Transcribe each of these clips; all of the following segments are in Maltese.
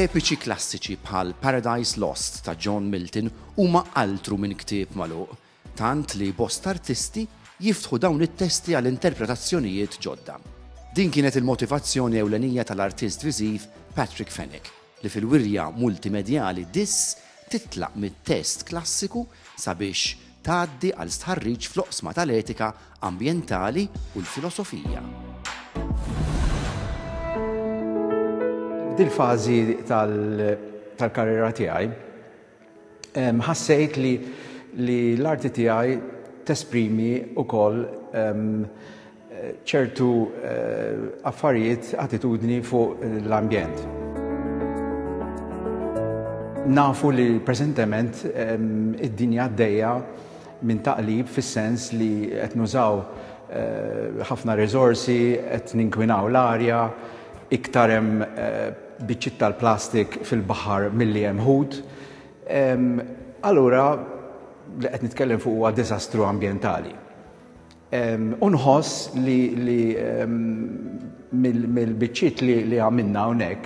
Epiċi klassiċi bħal Paradise Lost ta' John Milton huma altru minn ktieb magħluq, tant li bosta artisti jiftħu dawn it-testi għal interpretazzjonijiet ġodda. Din kienet il-motivazzjoni ewlenija tal-artist viżiv Patrick Fenech, li fil-wirja multimedjali Dis titlaq mit-test klassiku sabiex tgħaddi għal stħarriġ fl-oqsma tal-etika ambjentali u l-filosofija. F'dil-fażi tal-karriera tiegħi, ħassejt li l-arti tiegħi tesprimi wkoll ċertu affarijiet, attitudni fuq l-ambjent. Nafu li preżentement id-dinja għaddejja minn taqlib fis-sens li qed nużaw ħafna riżorsi, qed ninkwinaw l-arja, iktar hemm biċċiet tal-plastik fil-baħar milli hemm ħut. Allura li qed nitkellem fuq huwa diżastru ambjentali. U nħoss li mill-biċċiet li għamilna hawnhekk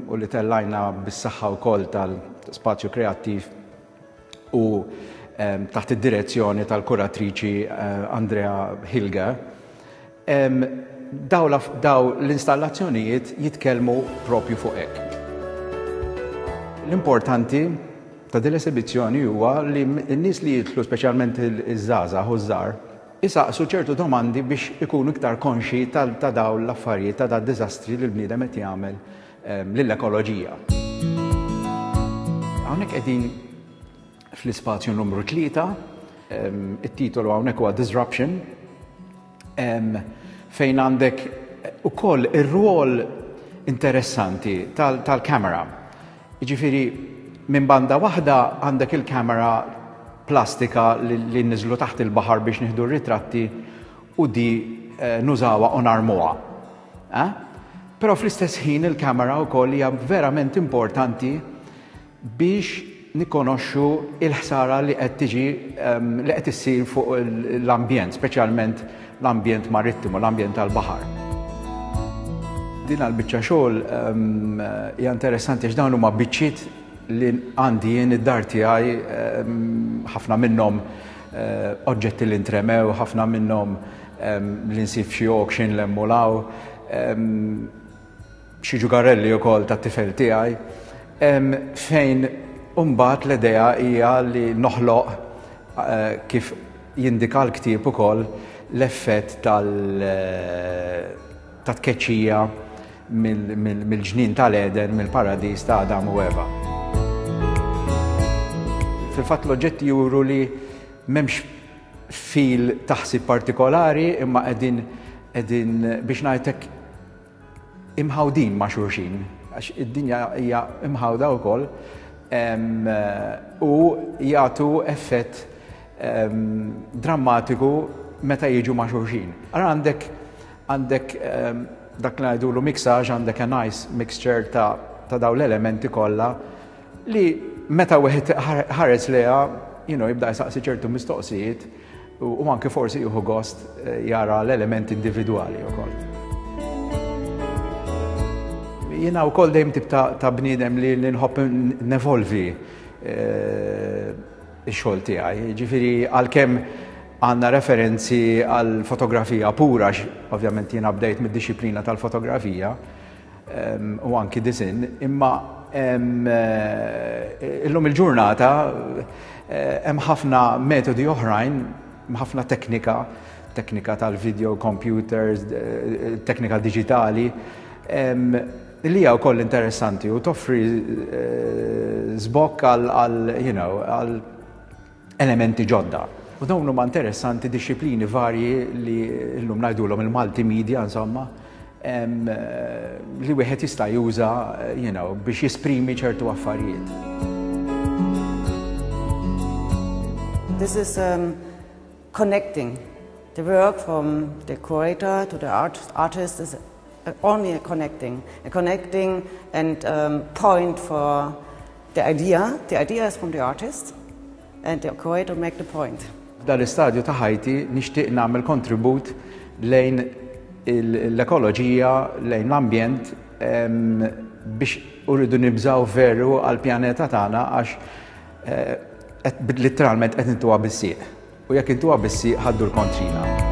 u li tellajna bis-saħħa wkoll tal-spazju kreattiv u taħt id-direzzjoni tal-kuratriċi Andrea Hilger, daw l-installazzjonijiet jitkellmu propju fuq hekk. L-importanti ta' din l-esibizzjoni huwa li n-nies li jidħlu speċjalment iż-żgħażagħ u ż-żgħar isaqsu ċertu domandi biex ikunu iktar konxji ta' dawn l-affarijiet, ta' dad-diżastri li l-bniedem qed jagħmel lill-ekoloġija. Hawnhekk qegħdin fl-ispazju numru 3, it-titolu hawnhekk huwa Disruption, fejn għandek ukoll ir-rwol interessanti tal-kamera. Jiġifieri minn banda waħda għandek il-kamera plastika li niżlu taħt il-baħar biex nieħdu r-ritratti u di eh, nużawha u narmuha. Eh? Però fl-istess ħin il-kamera wkoll hija verament importanti biex nikkonoxxu il-ħsara li qed tiġi ehm, li qed issir fuq l-ambjent, speċjalment l-ambjent marittimu, l-ambjent tal-baħar. Din għal-biċċa xogħol ehm, hija interessanti għax dawn huma biċċiet li għandi jien id-dar tiegħi ehm, ħafna minnhom eh, oġġetti li ntremew, ħafna minnhom li nsib xi auction l-emmulaw xi ġugarelli wkoll tat-tifel tiegħi, fejn imbagħad l-idea hija li noħloq eh, kif jindika l-ktieb ukoll l-effett tal eh, ta' tkeċċija mill-ġnien tal-Eden, mill-paradis ta' Adam u Eva. Fil-fatt l-oġġetti juru li m'hemmx fil taħsib partikolari imma qegħdin qegħdin biex ngħidlek imħawdin ma' xulxin, għax id-dinja hija imħawda wkoll u jagħtu effett drammatiku meta jiġu ma' xulxin. Ara għandek għandek dak li ngħidulu mixage, għandek a nice mixture ta' ta' dawn l-elementi kollha li meta wieħed ħares lejha, you know, jibda jsaqsi ċertu mistoqsijiet u anke forsi jieħu gost eh, jara l-elementi individwali wkoll. Jiena wkoll dejjem tip ta' bniedem li nħobb nevolvi eh, ix-xogħol tiegħi. Ġifieri għalkemm għandna referenzi għal fotografija pura, ovvjament jiena bdejt mid-dixxiplina tal-fotografija, u anki disinn, imma eh, illum il-ġurnata eh, hemm ħafna metodi oħrajn, ħafna teknika, teknika tal-video, computers, eh, teknika digitali, li hija wkoll interessanti u toffri żbokk għal, you know, għal elementi ġodda. U dawn huma interessanti dixxiplini varji li llum ngħidulhom il-multimedia insomma, li wieħed jista' juża you know, biex jesprimi ċertu affarijiet. This is um, connecting the work from the curator to the art, artist is only a connecting, a connecting and um, point for the idea. The idea is from the artist and the curator make the point. F'dan l-istadju ta' ħajti nixtieq nagħmel kontribut lejn l-ekoloġija, lejn l-ambjent. biex uridu nibżaw veru għall-pjaneta tagħna għax eh, letteralment qed intuha bis-sieq. U jekk intuha bis-sieq ħaddu l-kontrina.